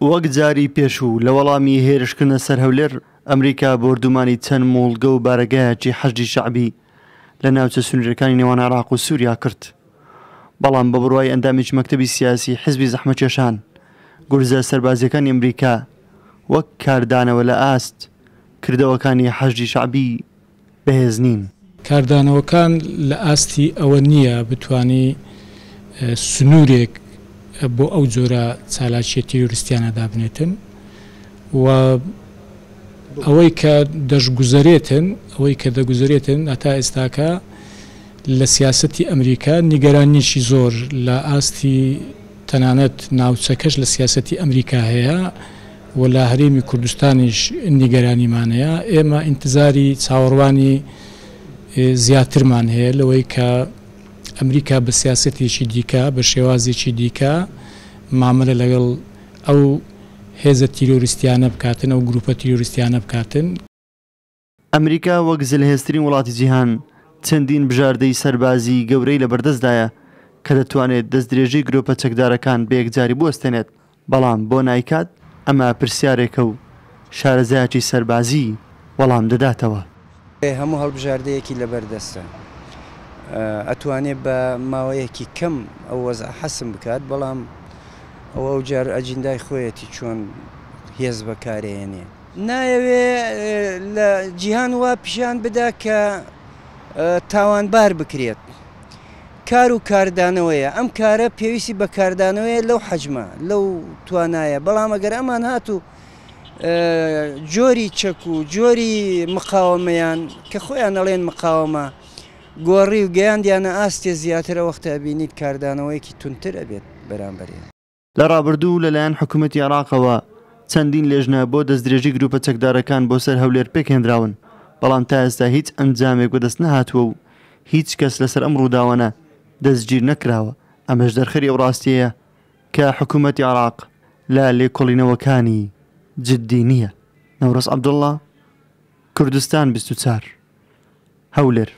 وەک جاری پێشوو لە وەڵامی هێرشکردنە سەر هەولێر، ئەمریکا بۆردومانی چەند موڵگە و بارەگایەکی حەشدی شەعبی لە ناوچە سنوورییەکانی نێوان عێراق و سووریا کرد. بەڵام بە بڕوای ئەندامێکی مەکتەبی سیاسی حیزبی زەحمەتکێشان، گورزە سەربازییەکانی ئەمریکا وەک کاردانەوە لە ئاست کردەوەکانی حەشدی شەعبی بەهێز نین. کاردانەوەکان لە ئاستی ئەوە نییە بتوانی سنوورێک بۆ ئەو جۆرە چالاکییە تیرۆریستیانە دابنێتن و ئەوەی کە دەشگوزەرێتن ئەوەی کە دەگوزەرێتن هەتا ئێستاکە لە سیاسەتی ئەمریکا نیگەرانیەکی زۆر لە ئاستی تەنانەت ناوچەکەش لە سیاسەتی ئەمریکا هەیە و لە هەرێمی کوردستانیش نیگەرانیمان هەیە، ئێمە ئینتزاری چاوەڕوانی زیاترمان هەیە لەوەی کە ئەمریکا بە سیاسەتێکی دیکە، بە شێوازێکی دیکە مامەلە لەگەڵ ئەو هێزە تیرۆریستیانە بکاتن، ئەو گروپە تیرۆریستیانە بکاتن. ئەمریکا وەک زلهێزترین وڵاتی جیهان چەندین بژاردەی سەربازیی گەورەی لەبەردەستدایە کە دەتوانێت دەستدرێژیی گرۆپە چەکدارەکان بەیەکجاری بوەستێنێت، بەڵام بۆ نایکات؟ ئەمە پرسیارێکە و شارەزایەکی سەربازی وەڵام دەداتەوە. هەموو هەڵبژاردەیەکی لەبەردەستە ئەتوانێ بە ماوەیەکی کەم ئەو وەزعە حەسم بکات، بەڵام ئەوە ئەوجار ئەجیندای خۆیەتی چۆن هێز بەکارێنێ. نایەوێ لە جیهان وا پیشان بدا کە تاوانبار بکرێت. کار و کاردانەوەیە، ئەم کارە پێویستی بە کاردانەوەیە لەو حەجمە، لەو توانایە، بەڵام ئەگەر ئەمان هاتوو جۆری چەک و جۆری مقاوەمەیان کە خۆیان ئەڵێن مقاوەمە گۆڕی و گەیاندیانە ئاستێ زیاتر ئەوەختە ئەبینیت کاردانەوەیەکی توندتر ئەبێت بەرامبەریان. لە ڕابردوو لەلایەن حکومەتی عێراقەوە چەندین لێژنە بۆ دەستدرێژی گروپە چەکدارەکان بۆ سەر هەولێر پێکهێنراون، بەڵام تا ئێستا هیچ ئەنجامێک بەدەست نەهاتووە و هیچ کەس لەسەر ئەم ڕووداوانە دەستگیر نەکراوە، ئەمەش دەرخەری ئەو ڕاستیەیە کە حکومەتی عێراق لە لێکۆڵینەوەکانی جددی نییە. نەورۆز عەبدوڵڵا، کوردستان 24، هەولێر.